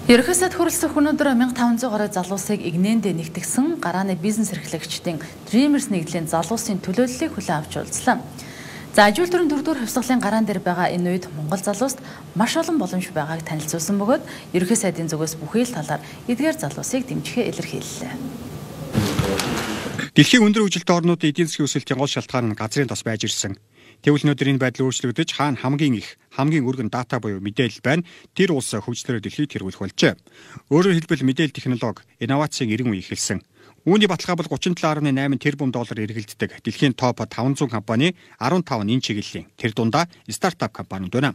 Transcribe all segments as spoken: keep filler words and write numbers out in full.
Ерөнхий сайд хүрэлцэх өнөөдөр мянга таван зуун гаруй залуусыг игнэндээ нэгтгэсэн гарааны бизнес эрхлэгчдийн Dreamers нэгдлийн залуусын төлөөллийг хүлээн авч уулзлаа. За ажил төрийн дөрөвдүгээр хувьсгалын гараан дээр байгаа энэ үед Монгол залууст маш олон боломж байгааг танилцуулсан бөгөөд ерөнхий сайдын зүгээс бүхий л талаар эдгээр залуусыг дэмжихээ илэрхийллээ. Дэлхийн өндөр хөгжилтэй орнуудын эдийн засгийн өсөлтийн гол шалтгаан нь газрын тос байж ирсэн. Тэгвэл өнөөдөр энэ байдал өөрчлөгдөж хаана хамгийн их, хамгийн өргөн дата буюу мэдээлэл байна. Тэр улс хөгжлөөр дэлхийд тэргүүлэх болжээ. Өөрөөр хэлбэл мэдээлэл технологи, инновацийн эрен үе эхэлсэн. Үүний баталгаа бол гучин долоо дасалж найман тэрбум доллар эргэлддэг дэлхийн топ таван зуун компани арван таван энэ чиглэлийн. Тэр дундаа стартап компаниуд байна.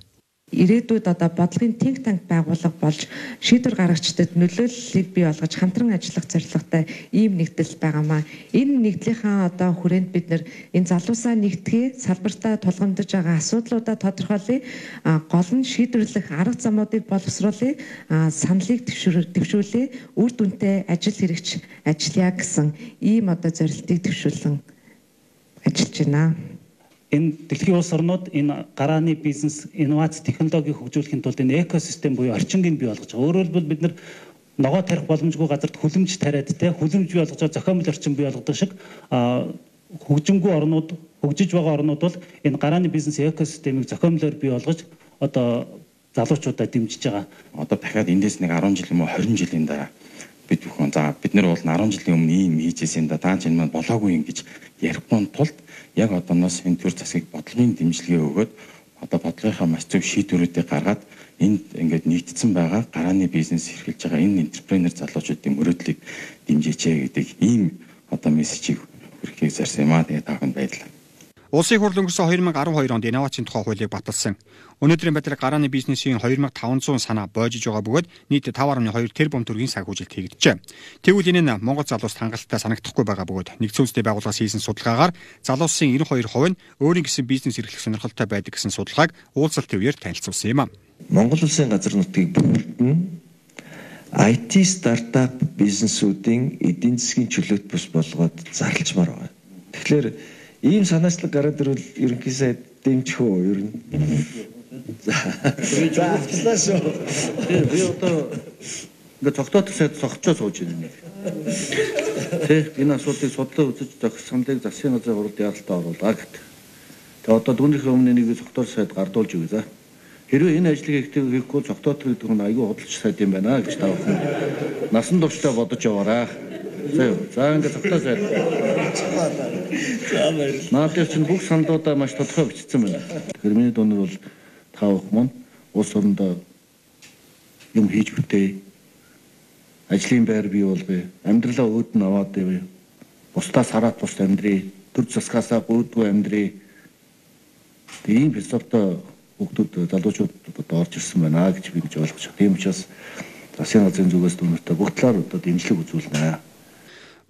Ирээдүйд одоо бодлогын think tank байгууллага болж шийдвэр гаргагчдад нөлөөллийг бий болгож хамтран ажиллах зорилготой ийм нэгдэл байгаамаа. Энэ нэгдлийнхаа одоо хүрээнд бид нэр энэ залуусаа нэгтгэе, салбартаа тулгамдж байгаа асуудлуудаа тодорхойлъё, гол нь шийдвэрлэх арга замуудыг боловсруулъя, саналыг дэвшүүлье, үр дүнтэй ажил хэрэгч ажиллая гэсэн ийм одоо зорилтыг дэвшүүлэн ажиллаж байна. Энэ дэлхийн улс орнууд энэ гарааны бизнес, инновац, технологиг хөгжүүлэхийн тулд энэ экосистем буюу орчингийг бий болгож байгаа. Өөрөөр хэлбэл бид нар ногоо тарих боломжгүй газарт хүлэмж тариад те хүлэмж бий болгож зохиомжтой орчин бий болгодог шиг хөгжимгүй орнууд, хөгжиж байгаа орнууд бол энэ гарааны бизнес экосистемийг зохиомжлоор бий болгож одоо залуучуудаа дэмжиж байгаа. Одоо дахиад эндээс нэг арван жил юм уу хорин жилийн дараа бид бүхэн за бид нар бол арван жилийн өмнө ийм хийжсэн да таа чинь маань болоогүй юм гэж ярихгүй тулд яг одооноос энэ төр засгийг бодлогын дэмжлэгээ өгөөд одоо бодлогынхаа маш зөв шийдвэрүүдийг гаргаад энд ингээд нийтдсэн байгаа гарааны бизнес эрхэлж байгаа энэ энтерпренер залуучуудын мөрөөдлийг дэмжээч гэдэг ийм одоо мессежийг хүргэхийг зарсан юм аа. Тэгээ таахан баярлалаа. Улсын хурл өнгөрсөн хоёр мянга арван хоёр онд инновацийн тухай хуулийг баталсан. Өнөөдрийн байдлаар гарааны бизнесийн хоёр мянга таван зуун санаа боожиж байгаа бөгөөд нийт таван гаруй хоёр тэрбум төгрөгийн санхүүжилт хийгджээ. Тэгвэл энэ нь Монгол залууст хангалттай санагдахгүй байгаа бөгөөд нэгдсэн үндэсний байгууллагаас хийсэн судалгаагаар залуусын девяносто хоёр хувь нь өөрийн гэсэн бизнес эрхлэх сонирхолтой байдаг гэсэн судалгааг уулзалт төвөөр танилцуулсан юм а. Монгол улсын газар нутгийг бүрдэн ай ти стартап бизнесүүдийн эдийн засгийн чөлөөт бус болгоод зарлчмаар байна. Тэгэхээр ийм санаачлаг гараад ирвэл ерөнхий сайд дэмжих үү ер нь. За. За шүү. Би одоо ингээд цогтойтой сайд цогцоо сууж байна. Тэ энэ асуудлыг судлаа үзэж зохисоныг засгийн газрын хуралд яралтай оруулаа гэдэг. Тэгээ одоо дүүнийхээ өмнө нэг цогтойтой сайд гардуулж өгье за. Хэрвээ энэ ажлыг хийхгүй цогтойтой гэдэг нь аюул худалч сайд юм байна гэж таавах. Насан туршдаа бодож яваарай. За ингээд цогтойтой сайд. Наадах чинь бүх саналуудаа маш тодорхой бичсэн байна. Тэгэхээр миний дунар бол таавах мөн улс орондоо юм хийж бүтээ. Ажлын байр бий болгоё. Амьдралаа өөдөн аваад явъя. Бусдаас хараад бус амьдрий. Төр засгаасаа гүйдгүй амьдрий. Тийм философитой хүүхдүүд залуучууд одоо орж ирсэн байна гэж би гэж ойлгож байна. Тийм учраас засгийн газрын зүгээс дүүнэртэй бүх талаар одоо дэмжлэг үзүүлнэ.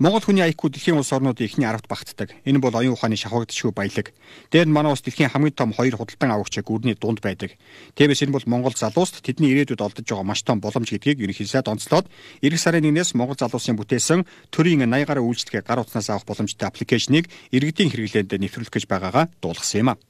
Монгол хүний ай кью дэлхийн улс орнуудын эхний аравт багтдаг. Энэ бол оюун ухааны шавхагдчихгүй баялаг. Дээр нь манай улс дэлхийн хамгийн том хоёр худалдан авагчид гүрний дунд байдаг. Тэгээс энэ бол Монгол залууст тэдний ирээдүйд олдож байгаа маш том боломж гэдгийг ерөнхий сайд онцлоод эх сарын нэгнээс Монгол залуусын бүтээсэн төрийн наяа гаруй үйлчлэгээ гар утснаас авах боломжтой аппликейшнийг иргэдийн хэрэглээнд нэвтрүүлэх гэж байгаагаа дуулгасан юм а.